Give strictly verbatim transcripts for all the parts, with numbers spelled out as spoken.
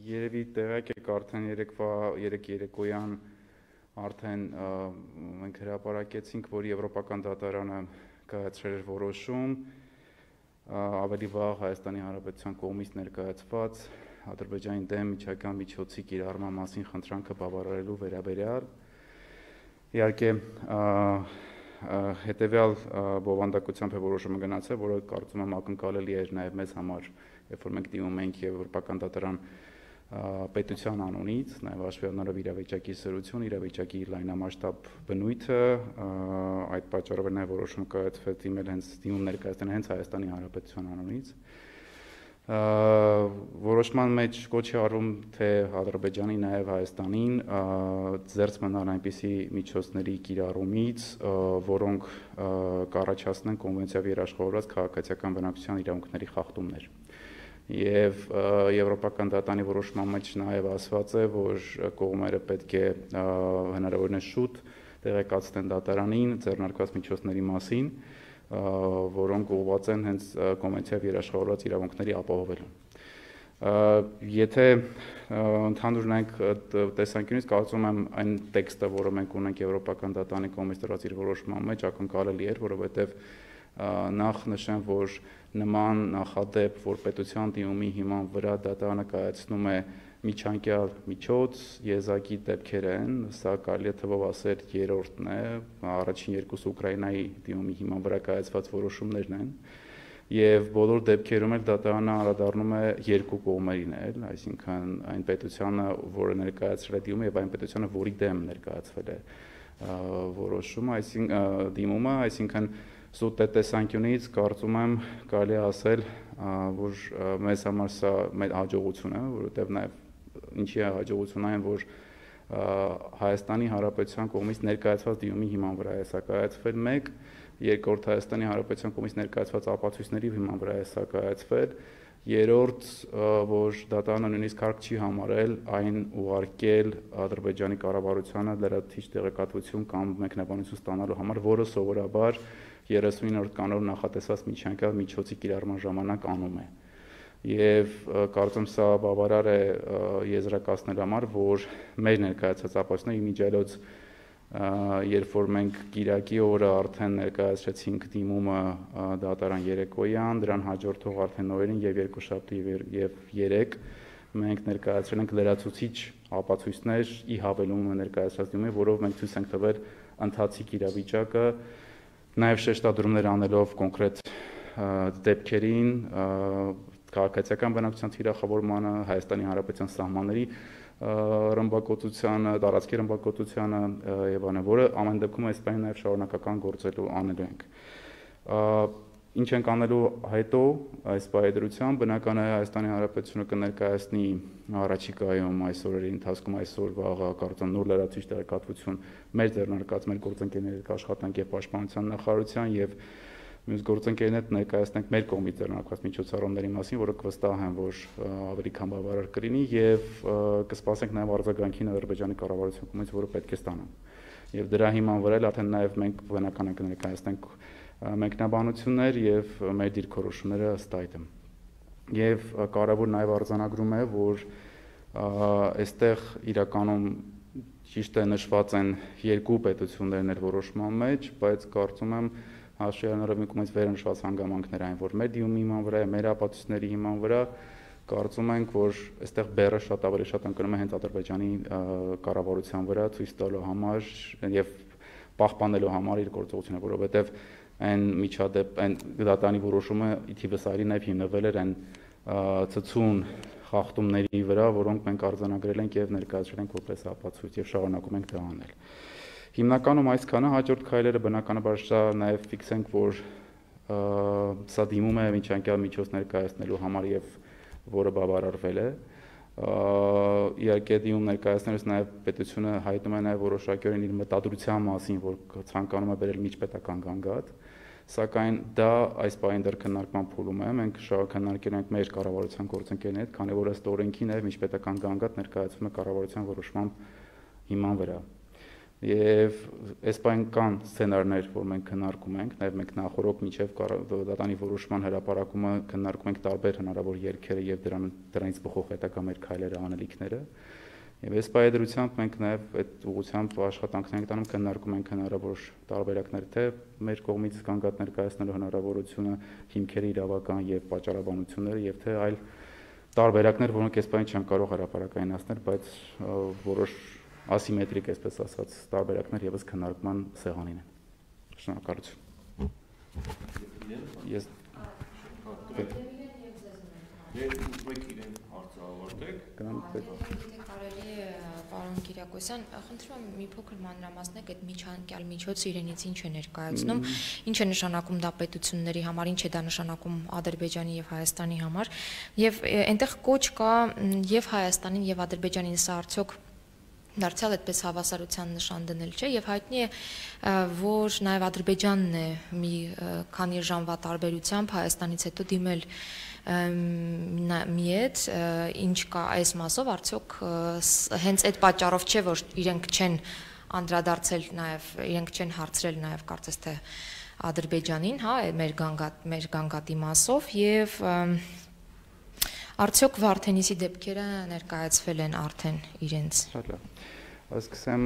Երևի տեղյակ եք արդեն երեկվա երեք երեկոյան արդեն մենք հրապարակեցինք, որ Եվրոպական դատարանը կայացրել էր որոշում ավելի վաղ Հայաստանի Հանրապետության կողմից ներկայացված Ադրբեջանի դեմ միջանկյալ միջոցի կիրառման մասին խնդրանքը բավարարելու վերաբերյալ։ Իհարկե հետևյալ բովանդակությամբ է որոշումը գնացել, որը կարծում եմ ակնկալելի էր նաև մեզ համար, երբ որ մենք դիմում ենք Եվրոպական դատարան պետության անունից, նաև հաշվի առնելով իրավիճակի սրություն, իրավիճակի լայնամասշտաբ բնույթը, այդ պատճառով է նաև որոշումը կայացվել դիմել հենց դիմում ներկայացնել հենց Հայաստանի Հանրապետության անունից։ Որոշման մեջ կոչ է արվում, թե Ադրբեջանի նաև Հայաստանին զերծ մնալ այնպիսի միջոցների կիրառումից, որոնք կառաջացնեն կոնվենցիայով երաշխավորված քաղաքացիական բնակչության իրավունքների խախտումներ։ Եվ Եվրոպական դատարանի որոշման մեջ նաև ասված է, որ կողմերը պետք է հնարավորինս շուտ տեղեկացնեն դատարանին ձեռնարկված միջոցների մասին, որոնք ուղղված են հենց կոնվենցիայով երաշխավորված իրավունքների ապահովելուն։ Եթե ընդհանուր նայենք տեսանկյունից, կարծում եմ այն տեքստը, որը մենք ունենք Եվրոպական դատարանի կողմից տրված իր որոշման մեջ, ակնկալելի էր, որովհետև նախ նշեմ, որ նման նախադեպ, որ պետության դիմումի հիման վրա դատարանը կայացնում է միջանկյալ միջոց, եզակի դեպքեր են, սա կարելի է թվով ասել երրորդն է, առաջին երկուսը Ուկրաինայի դիմումի հիման վրա կայացված որոշումներն են, եւ բոլոր դեպքերում էլ դատարանը անդրադառնում է երկու կողմերին էլ, այսինքն այն պետությանը, որը ներկայացրել է դիմումը, եւ այն պետությանը, որի դեմ ներկայացվել է որոշումը, այսինքն դիմումը, այսինքն սուտ տեսանկյունից կարծում եմ կարելի է ասել, որ մեզ համար սա մեր հաջողություն է, որովհետև նաև ինչի է հաջողություն այն, որ Հայաստանի Հանրապետության կողմից ներկայացված դիմումի հիման վրա է սա կայացվել մեկ, երկրորդ Հայաստանի Հանրապետության կողմից ներկայացված ապացույցների հիման վրա է սա կայացվել, երրորդ, որ դատարանը նույնիսկ հարկ չի համարել այն ուղարկել Ադրբեջանի կառավարությանը լրացուցիչ տեղեկատվություն կամ մեկնաբանություն ստանալու համար, որը սովորաբար երեսունինորդ կանոնով նախատեսված միջանկյալ միջոցի կիրառման ժամանակ անում է։ Եվ կարծում սա բավարար է եզրակացնելու համար, որ մեր ներկայացած ապացույցները իմիջիայլոց, երբ որ մենք կիրակի օրը արդեն ներկայացրեցինք դիմումը դատարան երեկոյան, դրան հաջորդող արդեն նոյերին եւ երկուշաբթի եւ երեկ մենք ներկայացրել ենք լրացուցիչ ապացույցներ ի հավելումը ներկայացրած դիմումի, որով մենք ցույց ենք տվել ընթացիկ իրավիճակը, նաև շեշտադրումներ անելով կոնկրետ դեպքերին, քաղաքացիական բնակչության թիրախավորմանը, Հայաստանի Հանրապետության սահմանների ռմբակոծությանը, տարածքի ռմբակոծությանը եւ այլն, որը ամեն դեպքում այս բանը նաև շարունակական գործելու անելու ենք։ Ինչ ենք անելու հետո այս բարեդրությամբ, բնական է Հայաստանի Հանրապետությունը կներկայացնի առաջիկայում այսօրերի ընթացքում այսօր վաղը կարծում նոր լրացուցիչ տեղեկատվություն մեր ձեռնարկած մեր գործընկերների աշխատանք եւ պաշտպանության նախարարության եւ մյուս գործընկերներ ներկայացնենք մեր կողմից ձեռնարկված միջոցառումների մասին, որը կվստահեն, որ ավելի քան բավարար կլինի եւ կսպասենք նաեւ արձագանքին Ադրբեջանի կառավարության կողմից, որը պետք է ստանան։ Եվ դրա հիման վրա էլ արդեն նաեւ մենք բնական է կներկայացնենք մեկնաբանություններ եւ մեր դիրքորոշումները ըստ այդմ։ Եվ կարևոր նաեւ արձանագրում է, որ այստեղ իրականում ճիշտ է նշված են երկու պետություններն էլ որոշման մեջ, բայց կարծում եմ հաշվի առնելով մի կողմից վերնշված հանգամանքներ այն, որ մեր դիմումի հիման վրա է, մեր ապացույցների հիման վրա կարծում ենք, որ այստեղ բեռը շատ ավելի շատ ընկնում է հենց Ադրբեջանի կառավարության վրա ցույց տալու համար եւ պահպանելու համար իր գործողությունը, որովհետեւ այն միջադեպ, այն դատարանի որոշումը ի թիվս այլի նաև հիմնվել էր այն ցցուն խախտումների վրա, որոնք մենք արձանագրել ենք եւ ներկայացրել ենք որպես ապացույց եւ շարունակում ենք դա անել։ Հիմնականում այսքանը, հաջորդ քայլերը բնականաբար սա նաև ֆիքսենք, որ սա դիմում է միջանկյալ միջոց ներկայացնելու համար եւ որը բավարարվել է։ Իհարկե դիմում ներկայացնելուց նաև պետությունը հայտնում է նաև որոշակիորեն իր մտադրության մասին, որ ցանկանում է բերել միջպետական գանգատ, սակայն դա այս պահին դեռ քննարկման փուլում է, մենք շարունակել ենք մեր կառավարության գործընկերների հետ, քանի որ ըստ օրենքի նաև միջպետական գանգատ ներկայացվում է կառավարության որոշման հիման վրա։ Եվ էսպանական սցենարներ, որ մենք քննարկում ենք, նաև մենք նախորդ միջև դատանի որոշման հրապարակումը քննարկում ենք տարբեր հնարավոր երգերը եւ դրանից բխող հետագա մեր քայլերը, անելիքները։ Եվ այս պայմանությամբ մենք նաև այդ ուղղությամբ աշխատանքներ ենք տանում, քննարկում ենք հնարավոր տարբերակներ, թե մեր կողմից կանգնած ներկայացնելու հնարավորությունը, հիմքերի իրավական եւ պատճառաբանությունները, եւ թե այլ տարբերակներ, որոնք այսպես չեն կարող հրապարակայնացնել, բայց որոշ ասիմետրիկ, այսպես ասած, տարբերակներ եւս քննարկման սեղանին են։ Շնորհակալություն։ Ես Կարելի է, պարոն Կիրակոսյան, խնդրում եմ մի փոքր մանրամասնեք այդ միջանկյալ միջոցը իրենից ինչ է ներկայացնում, ինչ է նշանակում դա պետությունների համար, ինչ է դա նշանակում Ադրբեջանի եւ Հայաստանի համար, եւ այնտեղ կոչ կա եւ Հայաստանին եւ Ադրբեջանին, սա արդյոք դարձյալ այդպես հավասարության նշան դնել չէ, եւ հայտնի է, որ նաեւ Ադրբեջանն է մի քանի ժամվա տարբերությամբ Հայաստանից հետո դիմել մի հետ, ինչ կա այս մասով, արդյոք հենց այդ պատճառով չէ, որ իրենք չեն անդրադարձել նաև, իրենք չեն հարցրել նաև կարծես թե Ադրբեջանին, հա, մեր գանգատ, մեր գանգատի մասով, եւ արդյոք Վարդենիսի դեպքերը ներկայացվել են արդեն իրենց։ Սկսեմ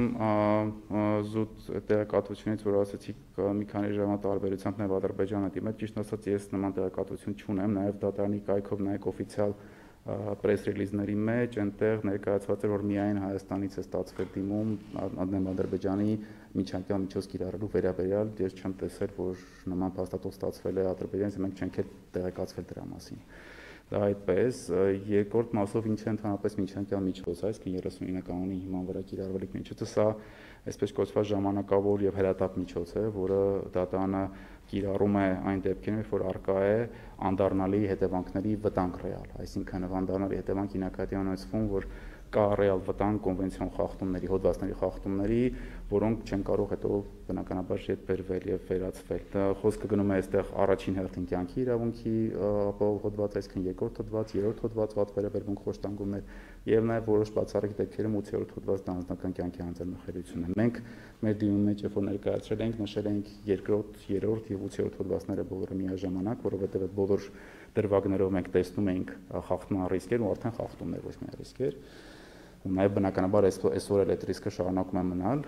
զուտ տեղեկատվությունից, որ ասացիք մի քանի ժամվա տարբերությամբ նաև Ադրբեջանը դիմել, ճիշտ ասած ես նման տեղեկատվություն չունեմ, նաև դատարանի կայքով նայեք օֆիցիալ պրես ռիլիզների մեջ, այնտեղ ներկայացված էր, որ միայն Հայաստանից է ստացվել դիմում Ադրբեջանի միջանկյալ միջոց կիրառելու վերաբերյալ, ես չեմ տեսել, որ նման փաստաթուղթ ստացվել է Ադրբեջանից, մենք չենք էլ տեղեկացվել դրա մասին։ Դա այդպես, երկրորդ մասով ինչ է ընդհանրապես միջանկյալ միջոց, այսինքն երեսունինը կանոնի հիման վրա կիրառվելիք միջոցը, սա այսպես կոչված ժամանակավոր եւ հրատապ միջոց է, որը դատարանը կիրառում է այն դեպքերում, որ արկա է անդառնալի հետևանքների վտանգ ռեալ, այսինքն անդառնալի հետևանք նկատի ունեցվում, որ կա ռեալ վտանգ կոնվենցիոն խախտումների, հոդվածների խախտումների, որոնք չեն կարող հետո բնականաբար հետ բերվել եւ վերացվել։ Դա խոսքը գնում է այստեղ առաջին հերթին կյանքի իրավունքի ապահով հոդված, այսինքն երկրորդ հոդված, երրորդ հոդված, վատ վերաբերվող խոշտանգումներ եւ նաեւ որոշ բացառիկ դեպքերում ութերորդ հոդված դա անձնական կյանքի հանձնախելիությունն է։ Մենք մեր դիմումի մեջ երբ որ ներկայացրել ենք, նշել ենք երկրորդ, երրորդ եւ ութերորդ հոդվածները բոլորը միաժամանակ, որովհետեւ այդ բոլոր դրվագներով մենք տեսնում ենք խախտման ռիսկեր ու արդեն խախտումներ, ոչ միայն ռիսկեր։ Ու նաև բնականաբար այսօր էլ այդ ռիսկը շարունակում է մնալ։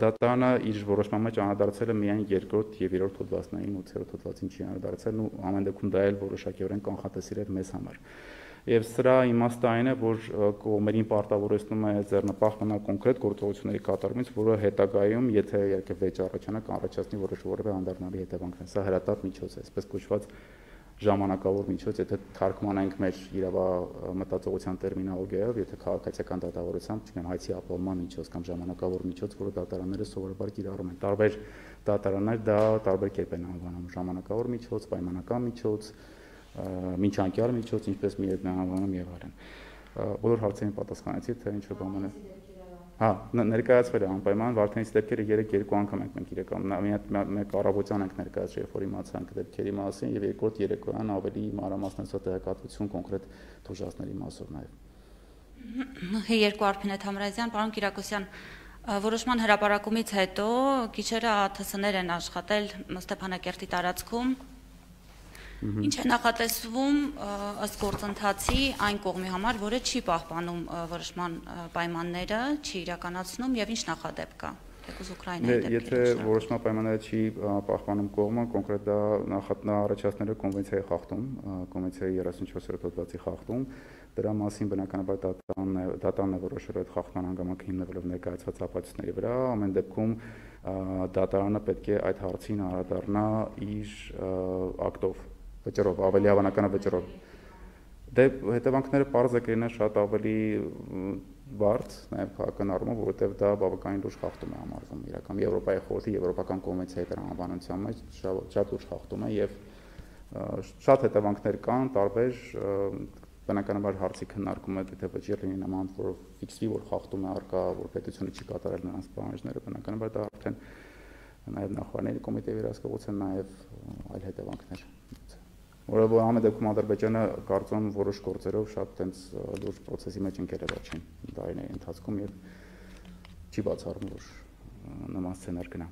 Դատարանը իր որոշման մեջ անդրադարձել է միայն երկրորդ եւ երրորդ հոդվածներին, ութերորդ հոդվածին չի անդրադարձել, ու ամեն դեպքում դա էլ որոշակիորեն կանխատեսել էր մեզ համար։ Եվ սրա իմաստը այն է, որ կողմերին պարտավորեցնում է ձեռնպահ մնալ կոնկրետ գործողությունների կատարումից, որը հետագայում, եթե իհարկե վեճ առաջանա, կանառաջացնի որոշ-որևէ անդառնալի հետևանքներ։ Սա հրատապ միջոց է, այսպես կոչված ժամանակավոր միջոց, եթե թարգմանենք մեր իրավամտածողության տերմինոլոգիայով, եթե քաղաքացիական դատավորությամբ, չգիտեմ, հայցի ապահովման միջոց կամ ժամանակավոր միջոց, որը դատարանները սովորաբար կիրառում են։ Տարբեր դատարաններ դա տարբեր կերպ են անվանում՝ ժամանակավոր միջոց, պայմանական միջոց, միջանկյալ միջոց, ինչպես մի հետ անվանում եւ այլն։ Բոլոր հարցերին պատասխանեցի, թե ինչ որ բան է։ Հա, ներկայացվել է անպայման Վարդենիսի դեպքերը երեք երկու անգամ ենք մենք իրական մեկ առավոտյան ենք ներկայացրել, երբ որ իմացանք դեպքերի մասին, եւ երկրորդ երեկոյան ավելի մանրամասնացած տեղեկատվություն կոնկրետ թուժածների մասով նաեւ։ Երկու Արփինե Թամրազյան, պարոն Կիրակոսյան, որոշման հրապարակումից հետո գիշերը ԱԹՍ-ներ են աշխատել Ստեփանակերտի տարածքում։ Ինչ է նախատեսվում ըստ գործընթացի այն կողմի համար, որը չի պահպանում որոշման պայմանները, չի իրականացնում եւ ինչ նախադեպ կա։ Թեկուզ Ուկրաինայի դեպքերում։ Եթե որոշման պայմանները չի պահպանում կողմը, կոնկրետ դա նախատնա առաջացնելու կոնվենցիայի խախտում, կոնվենցիայի երեսունչորսերորդ հոդվածի խախտում, դրա մասին բնականաբար դատարանն է որոշել այդ խախտման հանգամանքը հիմնվելով ներկայացված ապացույցների վրա, ամեն դեպքում դատարանը պետք է այդ հարցին անդրադառնա իր ակտով, վճռով, ավելի հավանական է վճռով։ Դե հետևանքները պարզ է կլինեն շատ ավելի բարդ, նաև քաղաքական առումով, որովհետև դա բավականին լուրջ խախտում է համարվում իրական Եվրոպայի խորհրդի եվրոպական կոնվենցիայի տրամաբանության մեջ շատ լուրջ խախտում է եւ շատ հետևանքներ կան, տարբեր բնականաբար հարցի քննարկումը դե վճիռ լինի նման, որով ֆիքսվի, որ խախտում է արկա, որ պետությունը չի կատարել նրանց պահանջները, բնականաբար դա արդեն նաև նախարարների կոմիտեի վերահսկողության, նաև այլ հետևանքներ։ Որովհետև ամեն դեպքում Ադրբեջանը կարծում որոշ գործերով շատ տենց լուրջ process-ի մեջ ընկել է վերջին տարիների ընթացքում եւ չի բացառում, որ նման սցենար գնա։